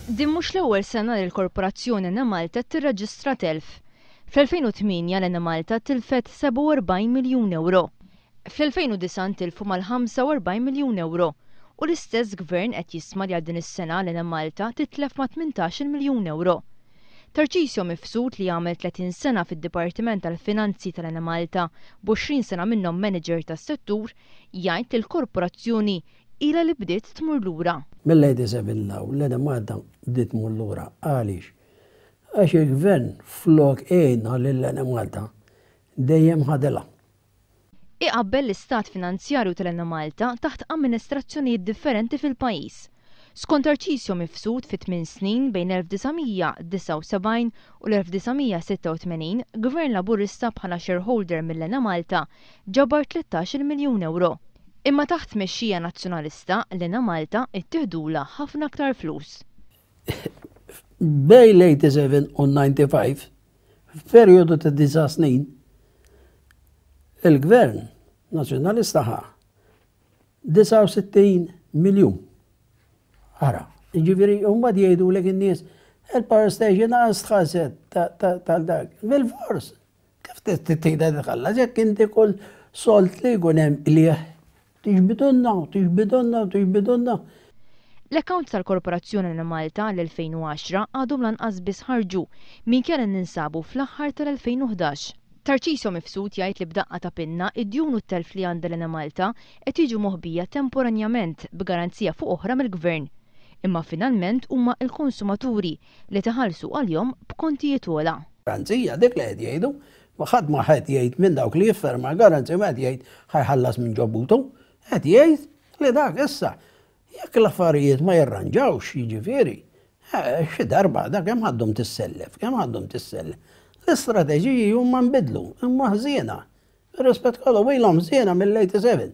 Din mhux l-ewwel sena li l-Korporazzjoni Enemalta tirreġistra telf. Fl-2008 l-Enemalta tilfet 47 miljun ewro. Fl-2009 ntilfu mal-45 miljun ewro u l-istess Gvern qed jistma li għal din is-sena l-Enemalta titlef ma' 18-il miljun ewro. Tarcisio Mifsud li għamel 30 sena fid-Dipartiment tal-Finanzi tal-Enemalta b'20 sena minnhom manager tas-settur jgħid li l-korporazzjoni ilha li bdiet tmur lura. Mill-87 'l hawn l-Enemalta bdiet tmur lura. Għaliex? Għax il-Gvern flok għinha lill-Enemalta dejjem ħadilha. Iqabbel l-istat finanzjarju tal-Enemalta taħt amministrazzjonijiet differenti fil-pajjiż. Skont Tarcisio Mifsud fi tmien snin bejn 1979 u l-1986 Gvern Laburista bħala shareholder mill-Enemalta ġabar 13-il miljun ewro. Imma taħt tmexxija Nazzjonalista l-Enemalta ittieħdulha ħafna aktar flus. Bejn l-87 u l-95, f'perjodu ta' disa' snin, il-Gvern Nazzjonalista ħa 69 miljun. Ara, jiġifieri mbagħad jgħidulek in-nies il-power station għas tħallset tal-dak. Bil-fors, kif tgħidha tħallas jekk inti kull sold li jkun hemm qligħ tiġbidulna u tiġbidulna u tiġbidulna. L-accounts tal-Korporazzjoni Enemalta għall-2010 għadhom lanqas biss ħarġu minkejja li ninsabu fl-aħħar tal-2011. Tarcisio Mifsud jgħid li b'daqqa ta' pinna id-djun u t-telf li għandha l-Enemalta qed jiġu moħbija temporanjament b'garanzija fuq oħra mill-Gvern. Imma finalment huma l-konsumaturi li tħallsu għalihom b'kontijiet ogħla. Garanzija, dik li qed jgħidu. Ħadd ma qed jgħid minn dawk li jifferma l-garanzija ma qed jgħid ħa jħallas minn ġo butu. Qed jgħid li dak issa Jekk l-affarijiet ma jirranġawx, jiġifieri, xi darba da kemm ħa ddum tissellef, kemm ħa ddum tissellef. L-istrateġiji huma nbidlu, imma ħżiena. Bir-rispett kollu ilhom ħżiena mill-87.